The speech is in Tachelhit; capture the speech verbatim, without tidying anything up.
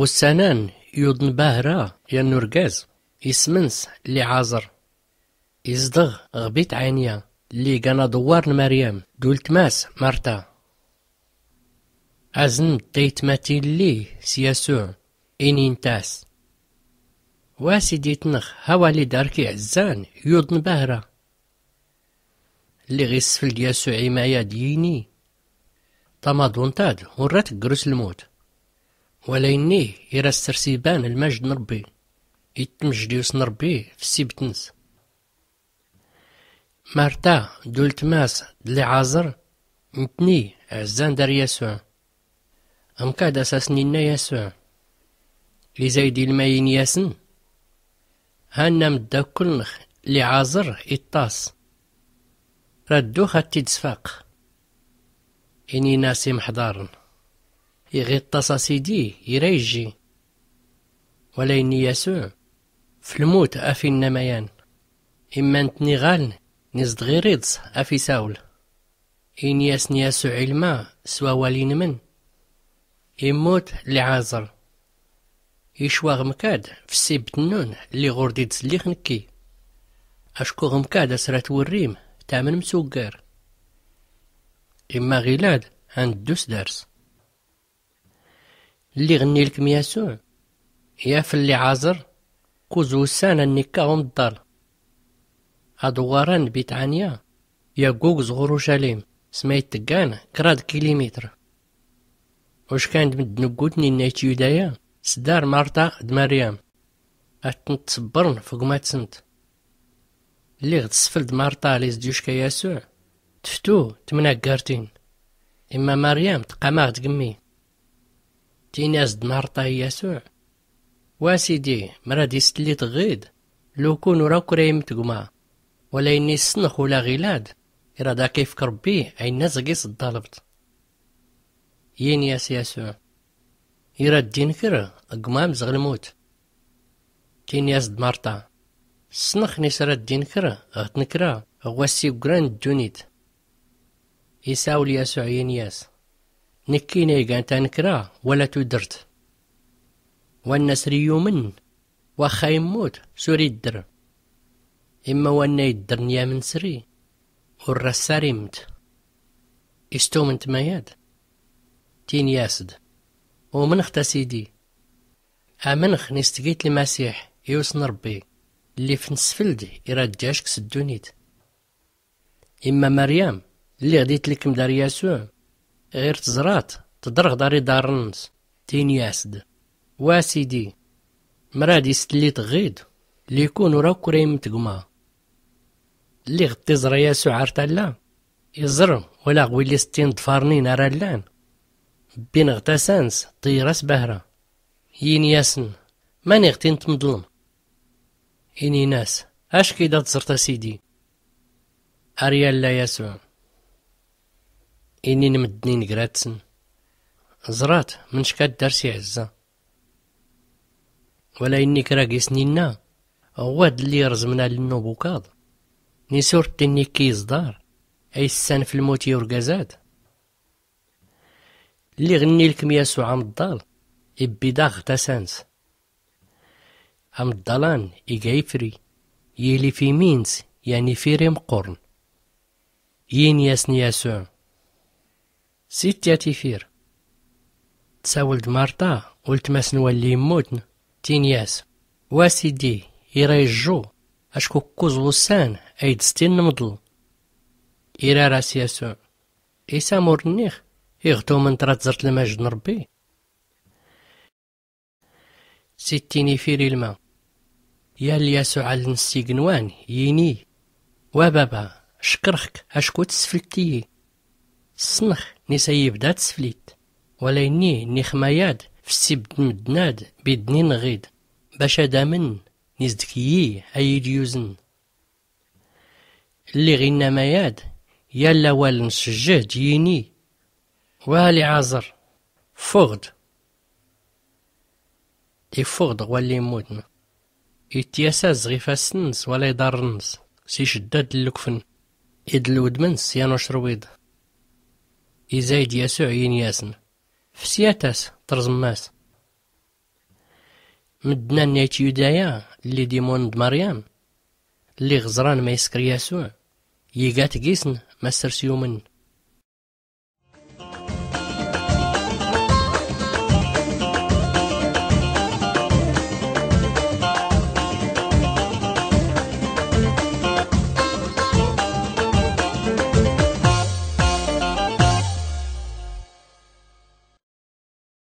Ɣussan-an yuḍn bahra yan urgaz ism-ns liɛẓr, izdɣ ɣ bitɛanya lli gan aḍwwar n maryam d ultma-s marta. Azn-d taytmatin-lli s yasuɛ, inint-as, wa sidi-tnɣ, hawal-id ar k-iɛzzan yuḍn bahra. Lliɣ isfld yasuɛ i mayad, yini, tamaḍunt-ad ur ra tggrus lmut, wala innih ira ssrs iban lmajd n rbbi, ittmjd yus n rbbi f ssibt-ns. Marta d ultma-s d liɛẓr, ntni ɛzzan dar yasuɛ. Mkad as-asn-inna yasuɛ, izayd ilma ini-asn, hanna mddakl-nɣ liɛẓr iṭṭas, ra ddux a-t-id-sfaq. Inin-as imḥḍarn, iɣ iṭṭas a sidi ira ijji. Wala ini yasuɛ, f lmut a f-inna mayan, imma ntni ɣaln n-izdɣ ir iḍs a f-isawl. Ini-asn yasuɛ ilma s wawal inmn, immut liɛẓr, icwaɣ mkad f ssibt-nnun lli ɣur-d-id-slix nkki, acku ɣ mkad as ra twrrim tamnm s uggar. Imma ɣilad a nddu s dars. Lliɣ nnilkm yasuɛ, yafl liɛẓr, kkuẓ wussan a nnikka umḍḍal. Aḍwwar-an n bitɛanya yaggugẓ ɣ urucalim, sma itggan kraḍ kilimitr. Uckan d mddn uggutn inna i tyuda-ya s dar marta d maryam, a ttnt-sbbrn f gma-tsnt. Lliɣ tsfld marta lli s-d-yucka yasuɛ, tftu tmnaggartin, imma maryam tqqam-aɣ-d gmmi. Tini-as-d marta i yasuɛ, wa sidi, mrad is-tllit ɣid, lukun ur akk ra immt gma, wala ini ssnx ula ɣilad ira ad-ak-ifk rbbi ayenna zɣ-is-ḍḍalbt. Yini-as yasuɛ, ira ad-inkr gma mzɣ lmut. Tini-as-d marta, ssnx nis ra ad-inkr ɣ tnkra ɣ wass iggran n ddunit. Isawl yasuɛ yini-as, nkkin a igan tnkra wala tudrt. Wanna sr iyumn, waxxa immut s ur iddr, imma wanna iddrn yamn sr-i ur ra ssar immt. Istumnt mayad? Tini-as-d, umnx-t a sidi. Amnx nis tgit lmasiḥ, i usn rbbi, llif nsfld ira ad-jack s ddunit. Imma maryam, lliɣ d-itlkm dar yasuɛ, ɣir tẓrat tḍrɣ dar iḍarrn-ns, tini-as-d, wa sidi, mrad is-tllit ɣid, llikun ur akk ra immt gma. Lliɣ d-tiẓra yasuɛ ar talla, iẓr wala ɣwilli s-tin ḍfarnin ara llan, bbin ɣ tasa-ns ṭiyra s bahra. Yini-asn, mani ɣ tin-tmḍlm? Inin-as, ack-id a tẓrt a sidi. Ar yalla yasuɛ. Inin mddn ingrat-sn, ẓrat mnck-ad ddar s iɛzza. Wala innik ra gis-ninna, ɣwad lli irẓmn alnn n ubukaḍ, nis ur tt-innikki iẓḍar a issan f lmut i urgaz-ad. Lliɣ nnilkm yasuɛ amḍḍal, ibbi daɣ ɣ tasa-ns. Amḍḍal-an iga ifri, yili f imi-ns yan ifir imqqurn. Yini-asn yasuɛ, sitti a tifir. Tsawl-d marta, ultma-s n walli immutn, tini-as, wa sidi, ira ijju, acku kkuẓ wussan a id-stin nmḍl. Irar-as yasuɛ, is amur-nnix iɣ tumnt ra tẓrt lmajd n rbbi? Sittin ifir ilma. Yal yasuɛ alnn s ignwan, yini, wa baba, ckrɣ-k acku tsflt-iyi. Ssnɣ nis a iyi-ibda tsflit, wala inni nnix mayad f ssibd n mddn-ad bidnin ɣid, bac ad amnn nis d kyi a iyi-d-yuzn. Lliɣ inna mayad, Yal awal n-sejjehd yini: wa liɛẓer, ffuɣ-d. Iffeɣ-d ɣ walli immutn, ittyasaz ɣ ifassn-ns wala iḍarrn-ns s icddad n-lkfn, id lwdm-ns yan ucrwiḍ. Izay-d yasuɛ yini-yasn: fsyat-as trẓm-as. Mddn-ann n-ayt yudaya lli d-imun d-maryam, lliɣ ẓran ma iskr yasuɛ, iga-t gisn ma ssr-s yumn.